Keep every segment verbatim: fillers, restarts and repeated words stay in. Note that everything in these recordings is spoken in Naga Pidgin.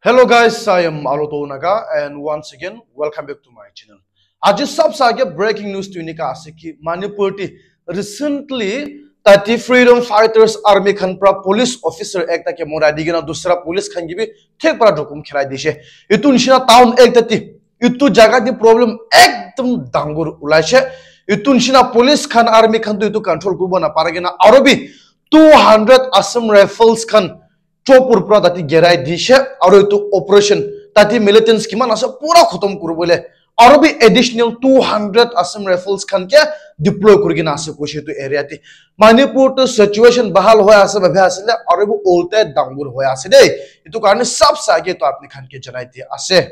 Hello guys, I am Aloto Naga and once again welcome back to my channel. Aji sabse aage breaking news tu enika ase ki Manipur ti recently tati freedom fighters army khan pra police officer ekta ke morai di kena dusra police khan ke bi thik pra dukum kherai dishe. Itu nishina town ekta ti itu jaga ti problem ekdam dangor ulaishe. Itu nishina police khan army khan tu itu control kuribo napare kena aro bi two hundred Assam Rifles khan Chopur pra tati gerai dishe aro itu operation tati militants kiman ase pura khotom kuribole aro bi additional two hundred Assam Rifles khan ke deploy kuri kena ase koishe itu area te. Manipur tu situation bahal hoi ase bhabi ase le aro bi ulte dangor hoi ase de. Itu karne sabse aage to apni khan ke janai dia ase.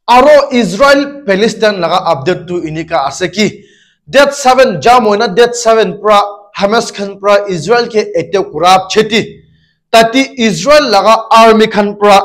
Aro Israel Palestine laga update tu enika ase ki date seven jam hoina date seven pra Hamas khan pra Israel ke attack kura cheti tati Israel laga army khan pra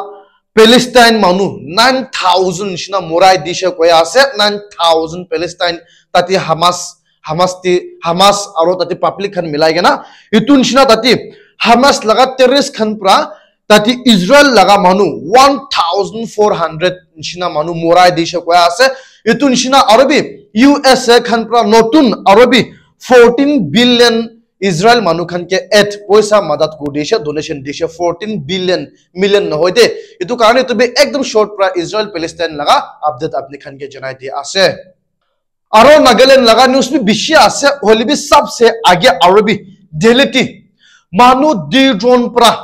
Palestine manu nine thousand nishina morai dishe koi ase. Nine thousand Palestine tati Hamas Hamas ti Hamas aro tati public khan milai kena itu nishina tati Hamas laga terrorist khan pra tati Israel laga manu one thousand four hundred nishina manu morai dishe koi ase. Itu nishina aro bi U S A khan pra notun aro bi fourteen billion Israel manu khan ke aid poisa madat kuri dishe, donation dishe, fourteen billion, million nohoi de. Itu karne itu bi ekdam short pra Israel Palestine laga update apni khan ke janai dia ase. Aro Nagaland laga news bi bishi ase, hoile bi sabse aage aro bi Delhi ti manu duijon pra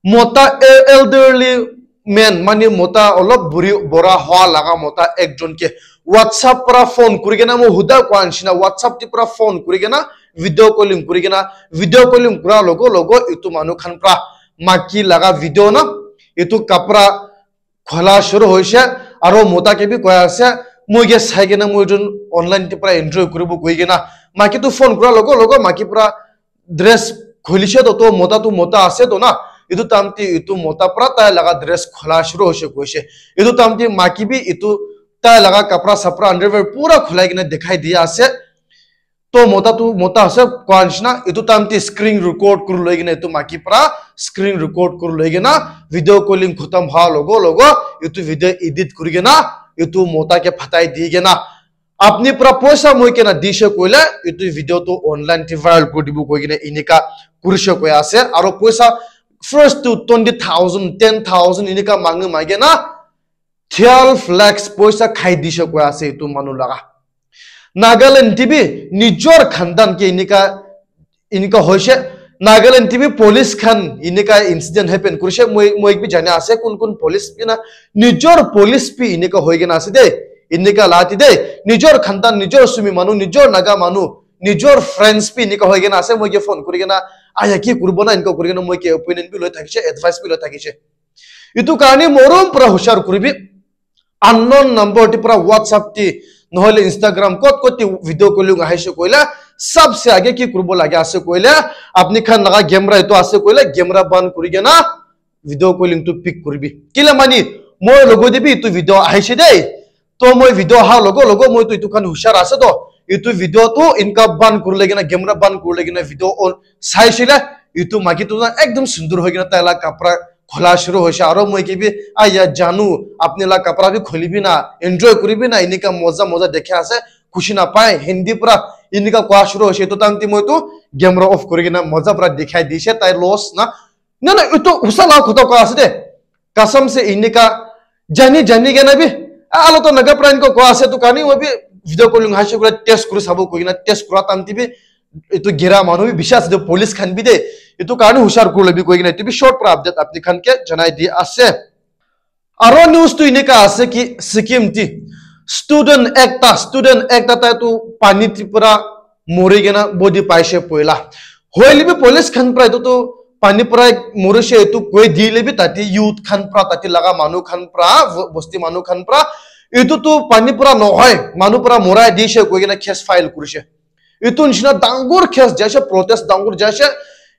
mota e- elderly man mane mota olop buri bora hoa laga mota ekjon ke WhatsApp pra phone kuri kena moi huda koa nishina WhatsApp ti pra phone kuri kena video calling kuri kena video calling kura logo logo itu manu khan pra maki laga video na itu kapra khola shuru hoise aro mota ke bi koi ase moi ke sai kena moi jun online te pra enjoy kuribo koi kena maki tu phone kura logo logo maki pra dress khulise to to mota tu mota ase to na itu time te itu mota pra tai laga dress khola shuru hoise koise itu time te maki bi itu tai laga kapra sapra underwear pura khulai kena dikhai dia ase. To mota tu mota ase koa nishina itu time te screen record kuri loi kena itu maki pra screen record kuri loi kena video calling khotom hoa logo logo itu video edit kuri kena itu mota ke phatai di kena apni pra poisa moi kena dishe koile itu video tu online te viral kuri dibo koi kena enika kurishe koi ase aro poisa first tu twenty thousand, ten thousand enika mangi magi na twelve lakhs poisa khai dishe koi ase itu manu laga. Nagaland te bi nijor khandan ke enika enika hoise. Nagaland te bi police khan enika incident happen kurise. Moi moi bi jane ase kun kun police bi na nijor police bi enika hoi kena ase de. Enika la ti de nijor khandan nijor sumi manu nijor naga manu nijor friends bi enika hoi kena ase. Moi ke phone kuri kena aya ki kuribo na enika kuri kena moi ke opinion bi loi thakise advice bi loi thakise. Itu karne morom pura hushar kuribi. Unknown number ti pura WhatsApp ti nohole Instagram kot kot ti video calling ahise koile sabse aage ki kuribo lage ase koile apni khan laga camera itu ase koile camera ban kuri kena video calling tu pick kuribi kile mani moi logo de bi itu video ahise de. To moi video aha logo logo moi tu itu khan hushar ase to itu video tu inka ban kuri lagi na camera ban kuri lagi na video on saisile itu maki tu na ekdom sundur hoi kena tai la kapra khola shuru hoise aro moi ke bi aya janu apni la kapra bi kholibi na enjoy kuribi na enika moza moza dekhe ase khushi na pai hindi pura enika koa shuru hoise itu time te moi tu camera off kuri kena moza pura dikhai dise tai loss na na na itu usa la khota koa ase de kasam se enika jani jani kena bi alo to naga pran ko koa ase tu kani moi bi video calling haise kura test kuri sabo koi kena test kura time te bi itu gira manu bi bishi ase de police khan bi de itu karne hushar kuri lobi koi kena itu bi short pra update apni khan ke janai di ase. Aro news tu enika ase ki Sikkim ti student ekta student ekta tai tu pani ti pura mori kena body paise poila hoile bi police khan pra itu tu pani pura morise itu koi dile bi tati youth khan pra tati laga manu khan pra bosti manu khan pra itu tu pani pura nohoi manu pura morai dise koi kena case file kurise. Itu nishina dangor case jaise protest dangor jaise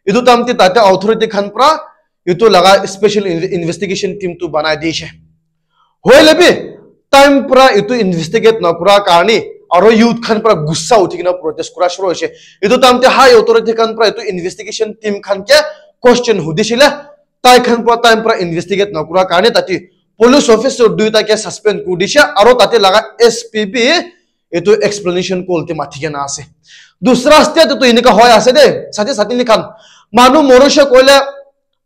itu time te tate authority khan pra itu laga special investigation team tu banai dise. Hoile bi time pura itu investigate na kura karne aro youth khan pura gussa uthi kena protest kura shuru hoise. Itu time te high authority khan pura itu investigation team khan ke question hudisile Tai khan pra time pra investigate nakura karne tate police officer duita ke suspend kuri dishe, aro tate laga S P bi etu explanation call te mati kena ase. Dusra state te tu enika hoi ase de, sati sati ni khan. Manu morishe koile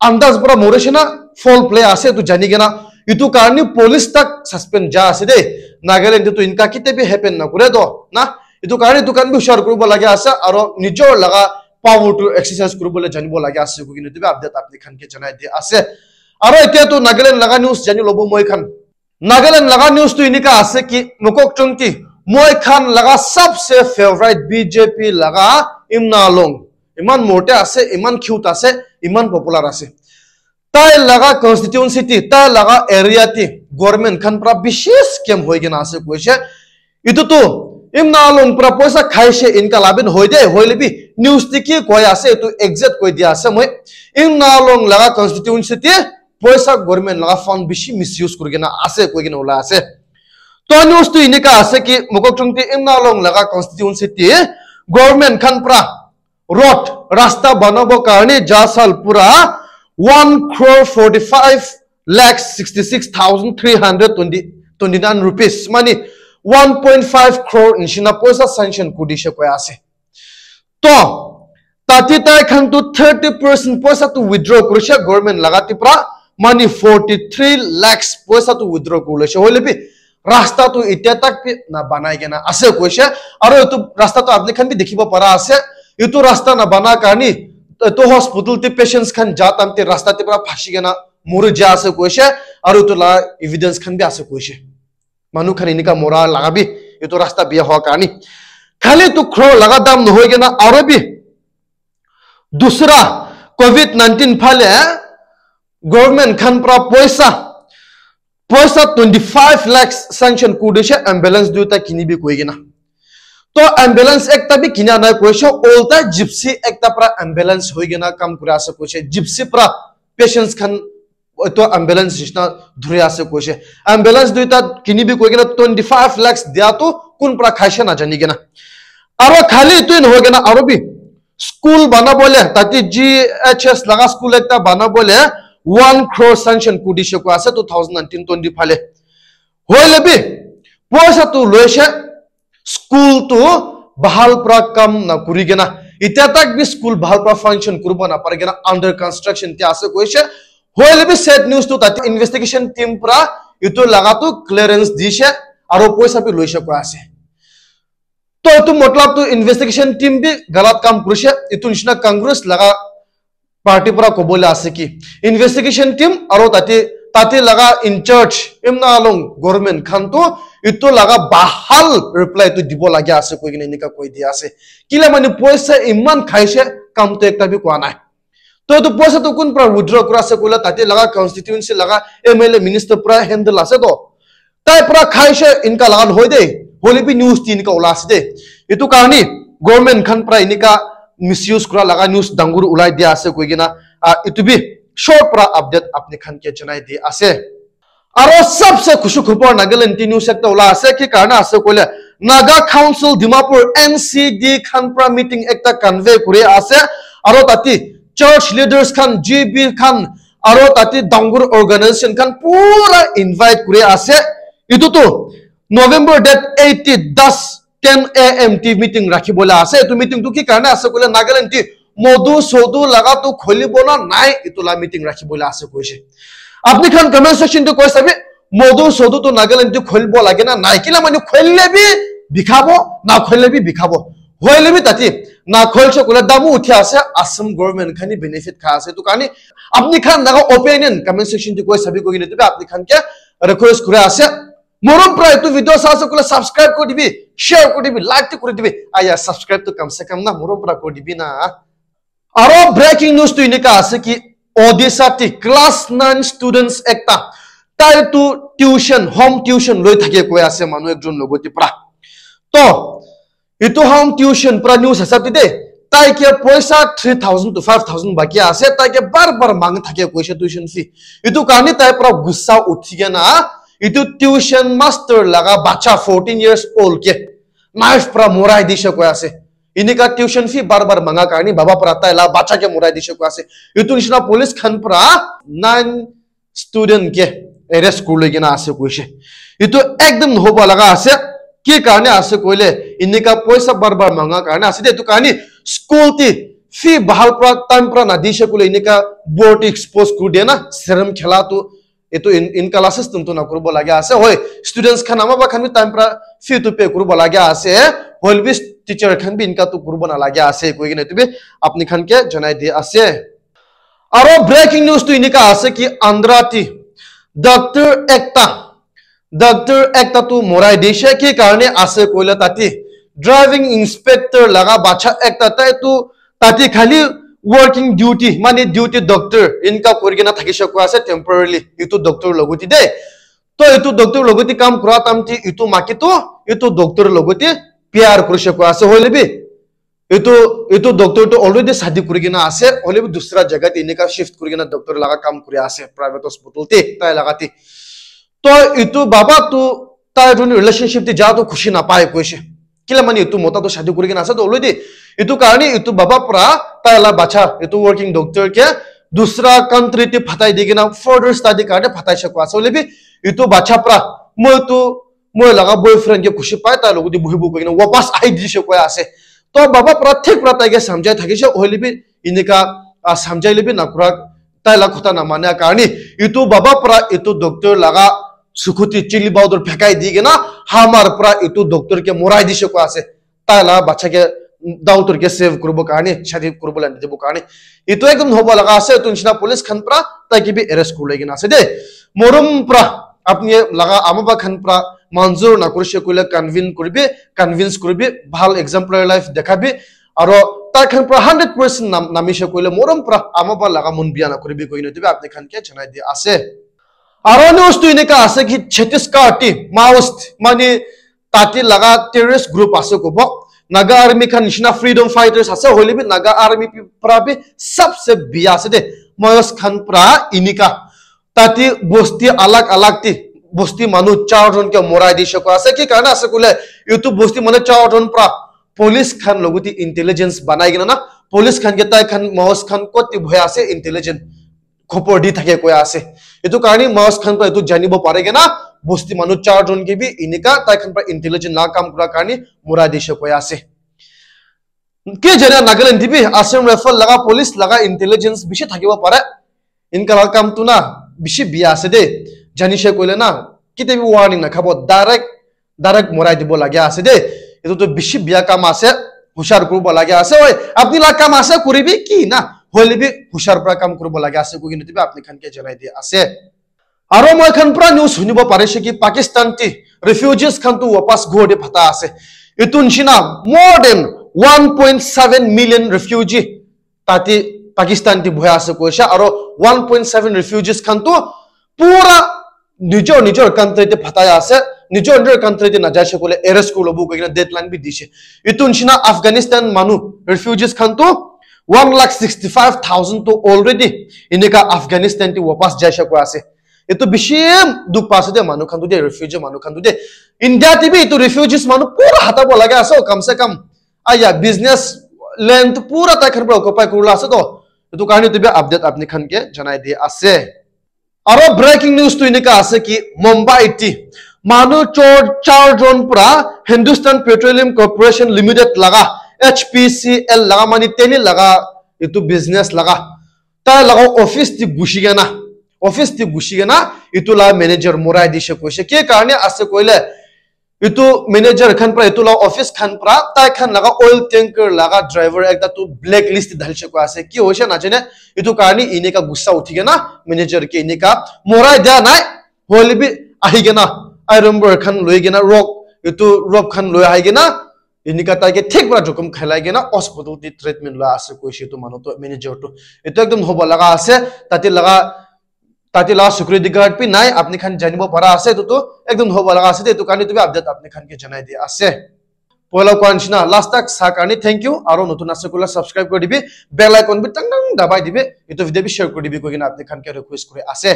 andaz pra morishe na foul play ase tu jani kena. Etu karne police tak suspend ja ase de. Nagaland te tu inka kite bi happen na kure do na. Etu karne etu khan bi hushar kuribo lage ase aro nijor laga power to exercise kuribo le janibo lage ase koi kena etu bi update apni khan ke janai di ase. Aro etia tu Nagaland laga news jani lobo moi khan. Nagaland laga news tu enika ase ki Mokokchung ti moi khan laga sabse favorite B J P laga Imna Along. Iman morte ase, iman cute ase, iman popular ase. Tai laga constituency ti, tai laga area ti government khan pra bishi scam hoi kena ase koise. Itu tu Imna Along pra poisa khaise inka labin hoi de, hoile bi news ti ki koi ase itu exact koi dia ase moi. Imna Along laga constituency ti poisa government laga fund bishi misuse kuri kena ase koi kena ulai ase. To news tu inika ase ki Mokokchung ti Imna Along laga constituency ti government khan pra road, rasta banabo karne ja sal pura one crore forty five lakh sixty six thousand three hundred twenty, twenty nine rupees, mani one point five crore nishina poisa sanction kuri dishe koi ase. To, tate tai khan tu thirty percent poisa tu withdraw kurishe government laga ti pra, mani forty three lakhs poisa tu withdraw kuri loishe. Hoile bi, rasta tu itya tak bi na banai kena ase koishe. Aro etu rasta tu apni khan bi dikhibo para ase. Etu rasta na bana karni, etu hospital te patients khan ja time te rasta te pra phashi kena mori ja ase koishe. Aro etu la evidence khan bi ase koishe. Manu khan enika mora laga bi etu rasta biya hoa karni. Khali tu khro laga dam nohoi kena aro bi dusra covid nineteen phale government khan pra poisa, poisa twenty five lakhs sanction kuri dishe ambulance duita kinibi koi kena. To ambulance ekta bi kinia nai koishe, olta gypsy ekta pra ambulance hoi kena kam kuri ase koishe. Gypsy pra patients khan etu ambulance nishina dhuri ase koishe. Ambulance duita kinibi koi kena twenty five lakhs dia tu kun pra khaishe na jani kena. Aro khali etu nohoi kena aro bi school banabole, tate G H S laga school ekta banabole one crore sanction kuri dishe koi ase two thousand nineteen twenty phale. Hoile bi, poisa tu loishe, school tu bahal pra kam na kuri kena. Itya tak bi school bahal pra function kuribo na pari kena under construction te ase koishe. Hoile bi sad news tu tate investigation team pra itu laga tu clearance dishe aro poisa bi loishe koi ase. To etu matlab tu investigation team bi galat kam kurishe, etu nishina Congress laga party pra kobole ase ki investigation team aro tate, tate laga in charge Imna Along government khan tu etu laga bahal reply tu dibo lage ase koi kena enika koi dia ase. Kila mane poisa iman khaishe, kam tu ekta bi koa nai. To etu poisa tu kun pra withdraw kura ase koile tate laga constituency laga M L A minister pra handle ase to. Tai pra khaishe inka laga nohoi de, hoile bi news ti inka ula ase de. Itu karni government khan pra inika misuse kura laga news dangur ulai dia ase koi kena, ah, itu bi short pra update apni khan ke janai di ase. Aro sabse khushi khubor Nagaland ti news ekta ula ase, ki karna ase koile Naga Council Dimapur N C D khan pra meeting ekta convey kuri ase, aro tati church leaders khan, G B khan, aro tati dangur organization khan pura invite kuri ase. Itu tu November date eight ti das ten A M ti meeting rakhi bola ase. Itu meeting tu ki karna ase koile Nagaland ti modu sodu laga tu kholibo na nai, itu la meeting rakhi bola ase koise. Apni khan comment section tu koi sabi, modu sodu tu Nagaland tu kholibo lage na nai. Kila manu kholile bi bikhabo, na kholile bi bikhabo. Hoile bi tati na kholse koile damu uthi ase, Assam government khani benefit kha ase. Tu kani apni khan laga opinion comment section tu koi sabi koi kine tu apni khan ke request kura ase. Morom pra itu video sa ase koile subscribe kuri dibi, share kuri dibi, like tu kuri dibi. Aya subscribe tu kam se kam na morom pra kuri dibi na. Aro breaking news tu inika ase ki Odisha ti class nine students ekta tai tu tuition, home tuition loi thake koi ase manu ekjon logoti pra. To itu home tuition pra news hisab te de, tai ke poisa three thousand to five thousand baki ase, tai ke bar bar mang thake koise tuition fee. Itu karni tai pra gussa uthi kena itu tuition master laga bacha fourteen years old ke knife pra morai dise koi ase. Inika tuition fee bar bar manga karni baba pra tai la bacha ke morai dishe koi ase. Itu nishina police khan pra nine student ke arrest kuri loi kena ase koishe. Itu ekdom nohoba laga ase. Ki karne ase koile, inika poisa bar bar manga karne ase de. Itu karne school ti fee bahal pra time pra na dishe koile inika board expose kuri de na, serum khela tu itu in, inka la system tu na kuribo laga ase. Hoi, students khan ama ba khan bi time pra fee tu pay kuribo laga ase. Hoi bi teacher khan bi inka tu kuribo na laga ase. Koi kena itu bi apni khan ke janai di ase. Aro breaking news tu inika ase ki Andra ti doctor ekta, doctor ekta tu morai dishe. Ki karne ase koile tati driving inspector laga bacha ekta tai tu tati khali working duty, mane duty doctor inka kuri kena thakishe koi ase temporarily itu doctor logoti de. To itu doctor logoti kam kura tamti itu maki tu itu doctor logoti pyar kurishe koi ase hoile bi. Itu, itu doctor tu already shadi kuri kena ase, hoile bi dusra jaga te enika shift kuri kena doctor laga kam kuri ase, private hospital te, tai laga te. To itu baba tu tai jun relationship te ja tu khushi na pai koishe. Kila mani itu mota tu shadi kuri kena ase to already. Itu karne itu baba pra tai la bacha, itu working doctor ke dusra country te phatai di kena further study karne phatai she koi ase. Hoile bi itu bacha pra moi tu moi laga boyfriend ke khushi pai, tai logoti bohibo koi kena wapas ahi dishe koi ase. To baba pra thik pra tai ke samjhai thakishe, hoile bi inika, ah, samjhai le bi na kura, tai la khota na mane karne itu baba pra itu doctor laga sukhuti chili powder phekai di kena hamar pra itu doctor ke morai dishe koi ase. Tai la bacha ke daughter ke save kuribo karne, shadi kuribo la dibo karne. Itu ekdom nohoba laga ase, itu nishina police khan pra tai ke bi arrest kuri loi kena ase de. Morom pra apni laga ama ba khan pra manzur na kurishe koile convince kuribi, convince kuribi, bhal exemplary life dekhabi, aro tai khan pra hundred percent nam, namishe koile morom pra ama ba laga mon biya na kuribi koi kena itu bi apni khan ke janai di ase. Aro news tu enika ase ki Chhattisgarh ti Maoist mane tati laga terrorist group ase kobo. Naga army khan nishina freedom fighters ase, hoile bi Naga army pi-, pra bi sabse biya ase de. Maoist khan pra inika tati bosti alag alag ti bosti manu char jon ke morai dishe koi ase. Ki karne ase koile itu bosti manu char jon pra police khan logoti intelligence banai kena na, police khan ke tai khan Maoist khan kot ti bohi ase intelligence khobor di thake koi ase. Itu karne Maoist khan pra itu janibo pare kena bosti manu char jon ke bi inika tai khan pra intelligence la kam kura karne morai dishe koi ase. Ke jane Nagaland te bi Assam Rifle laga police laga intelligence bishi thakibo pare. Inka laga kam tu na bishi biya ase de. Janishe koile na kite bi warning na khabo, direct direct morai dibo laga ase de. Itu tu bishi biya kam ase, hushar kuribo laga ase. Oi, apni la kam ase kuribi ki na, hoile bi hushar pra kam kuribo laga ase koi kena itu bi apni khan ke janai di ase. Aro moi khan pra news hunibo parishe ki Pakistan ti refugees khan tu wapas ghor te phata ase. Itu nishina more than one point seven million refugee tati Pakistan ti bohi ase koishe, aro one point seven refugees khan tu pura nijor nijor country te phatai ase, nijor nijor country te najaishe koile arrest kuri lobo koi kena deadline bi dishe. Itu nishina Afghanistan manu refugees khan tu one lakh sixty five thousand tu already inika Afghanistan te wapas jaishe koi ase. Itu bishi dukh pa ase de manu khan tu de, refugee manu khan tu de. India te bi itu refugees manu pura hatabo laga ase, kam se kam aya business land tu pura tai khan pra occupy kurila ase to. Itu karne itu bi update apni khan ke janai di ase. Aro breaking news tu enika ase ki Mumbai ti manu chor char jon pra Hindustan Petroleum Corporation Limited laga H P C L laga mane teli laga itu business laga tai laga office ti gushi kena, office ti gushi kena itu la manager morai dishe koishe. Ke karne ase koile itu manager khan pra, itu la office khan pra, tai khan laga oil tanker laga driver ekta tu blacklist te dhalishe koi ase. Ki hoishe na jane, itu karne inika gussa uthi kena manager ke inika morai dia nai, hoile bi ahi kena iron bar khan loi kena rock, itu rope khan loi ahi kena inika tai ke thik pra jokhom khailai kena hospital te treatment loi ase koishe itu manu tu, manager tu. Itu ekdom hobo laga ase, tate laga tate la security guard bi nai, apni khan janibo para ase, etu tu ekdum hobo laga ase de, etu karne etu bi update apni khan ke janai di ase. Poila koa nishina, last tak sa karne thank you, aro notun ase koile subscribe kuri dibi, bell icon bi tang tang dabai dibi, etu video bi share kuri dibi koi kena apni khan ke request kuri ase.